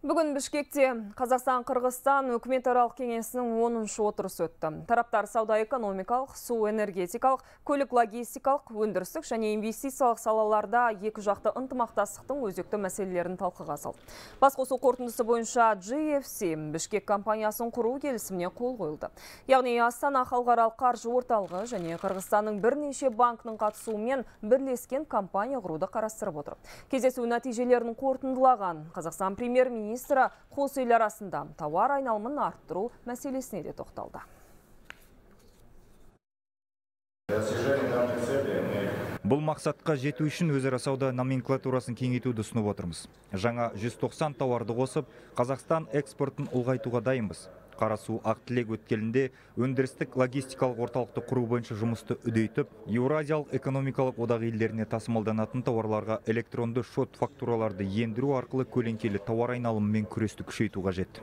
Бүгін Бішкекте Қазақстан-Қырғызстан үкіметаралық кеңесінің 10-шы отырысы өтті. Тараптар сауда-экономикалық, су-энергетикалық, көлік-логистикалық, өндірістік және инвестициялық салаларда екі жақты ынтымақтастықтың өзекті мәселелерін талқыға салды. Басқосу қорытындысы бойынша GFC Бішкек компаниясын құру келісіміне қол қойылды. Яғни Астана халықаралық қаржы орталығы және Қырғызстанның бірнеше банкінің қатысуымен бірлескен компания құруды қарастырып отыр. Кездесу нәтижелерін қорытындылаған Қазақстан премьер-министрі қос ел арасында тауар айналымын арттыру мәселесіне де тоқталды. Бұл мақсатқа жету үшін өзара сауда номенклатурасын кеңейтуді ұсынып отырмыз. Жаңа 190 тауарды қосып, Қазақстан экспортын ұлғайтуға дайынбыз. Қарасу Ақтілек өткелінде өндірістік логистикалық орталықты құру бойынша жұмысты үдейтіп, Еуразиялық экономикалық одақ елдеріне тасымалданатын тауарларға электронды шот фактураларды ендіру арқылы көлеңкелі тауар айналымымен күресті күшейту қажет.